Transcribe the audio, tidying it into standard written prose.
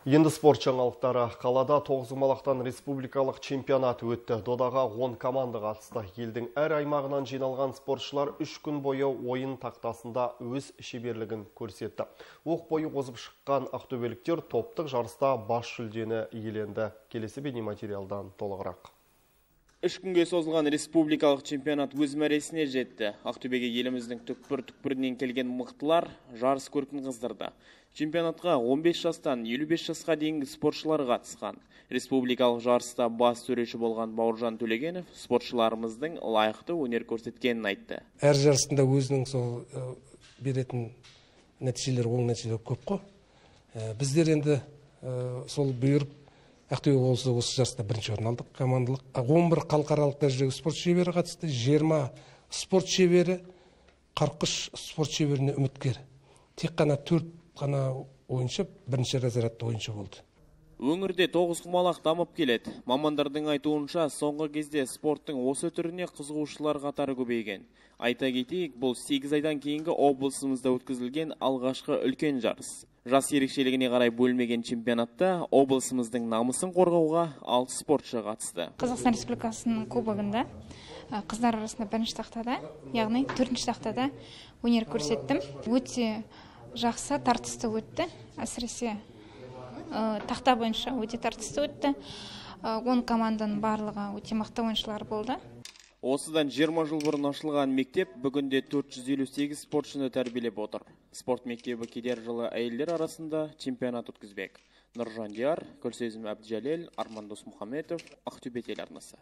Енді спорт жаңалықтары. Қалада тоғызқұмалақтан республикалық чемпионат өтті. Додаға 10 команда қатысты. Елдің әр аймағынан жиналған спортшылар 3 күн бойы ойын тақтасында өз шеберлігін көрсетті. Оқ бойы озып шыққан ақтөбеліктер топтық жарыста бас жүлдені иеленді. Келесі бейнематериалдан толығырақ. 3 күнге созылған республикалық чемпионат өз мәресіне жетті. Ақтөбеге еліміздің түкпір-түкпірінен келген мықтылар жарыс көркін қыздырды. Чемпионатқа 15 жастан 55 жасқа дейінгі спортшылар қатысқан. Республикалық жарыста бас төреші болған Бауыржан Төлегенов спортшыларымыздың лайықты өнер көрсеткенін айтты. Әр жарысында өзінің сол беретін нәтижелер, оң нәтижелер көп қой. Біздер енді сол бұйырып Ақтөбе облысы осы жарыста бірінші орын алдық. Командалық 11 халықаралық дәрежедегі спорт шебері қатысты, 20 спорт шебері, 43 спорт шеберіне үміткер. Тек қана 4 қана ойыншы бірінші разрядты ойыншы болды. Өңірде тоғызқұмалақ дамып келеді. Мамандардың айтуынша, соңғы кезде спорттың осы түріне қызығушылар қатары көбейген. Айта кетейік, бұл 8 айдан кейінгі облысымызда өткізілген алғашқы үлкен жарыс. Жас ерекшелігіне қарай бөлмеген чемпионатта облысымыздың намысын қорғауға 6 спортшы қатысты. Қазақстан Республикасының кубогында қыздар арасында бірінші тақтада, яғни 4-ші тақтада өнер көрсеттім. Өте жақсы, тартысты өтті. Әсіресе тақта бойынша өте тартысты өтті. 10 команданың барлығы өте мықты ойыншылар болды. Осыдан 20 жыл бұрын ашылған мектеп бүгінде 458 спортшыны тәрбиелеп отыр. Спорт мектебі келер жылы әйелдер арасында чемпионат өткізбек. Нұржан Диар, Күлсезім Әбдіжәлел, Арман Досмұхаметов, Ақтөбе телеарнасы.